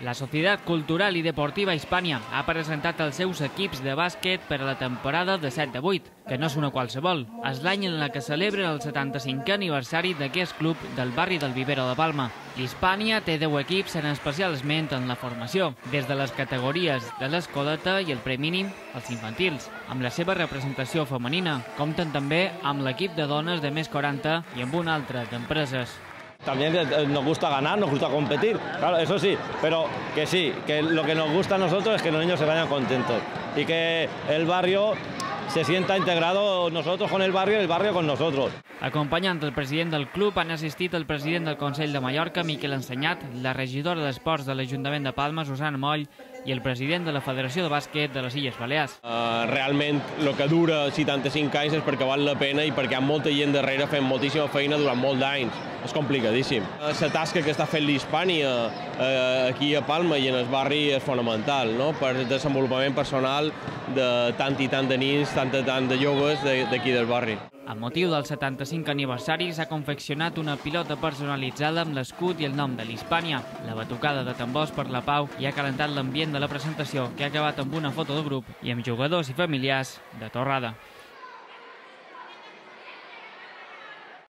La Societat Cultural i Deportiva Hispània ha presentat els seus equips de bàsquet per a la temporada de 7-8, que no és una qualsevol. És l'any en què celebra el 75è aniversari d'aquest club del barri del Vivero de Palma. L'Hispània té 10 equips en especial esment en la formació, des de les categories de l'escoleta i el preminím als infantils. Amb la seva representació femenina, compten també amb l'equip de dones de més 40 i amb un altre d'empreses. También nos gusta ganar, nos gusta competir, claro, eso sí, pero que sí, que lo que nos gusta a nosotros es que los niños se vayan contentos y que el barrio se sienta integrado, nosotros con el barrio con nosotros. Acompanyant el president del club han assistit el president del Consell de Mallorca, Miquel Ensenyat, la regidora d'Esports de l'Ajuntament de Palma, Susana Moll, i el president de la Federació de Bàsquet de les Illes Balears. Realment, el que dura 75 anys és perquè val la pena i perquè hi ha molta gent darrere fent moltíssima feina durant molts d'anys. És complicadíssim. La tasca que està fent l'Hispània aquí a Palma i en el barri és fonamental, no? Per el desenvolupament personal de tant i tant de nins, tant de joves d'aquí del barri. Amb motiu del 75 aniversari s'ha confeccionat una pilota personalitzada amb l'escut i el nom de l'Hispània. La batucada de tambors per la pau i ha calentat l'ambient de la presentació, que ha acabat amb una foto de grup i amb jugadors i familiars de torrada.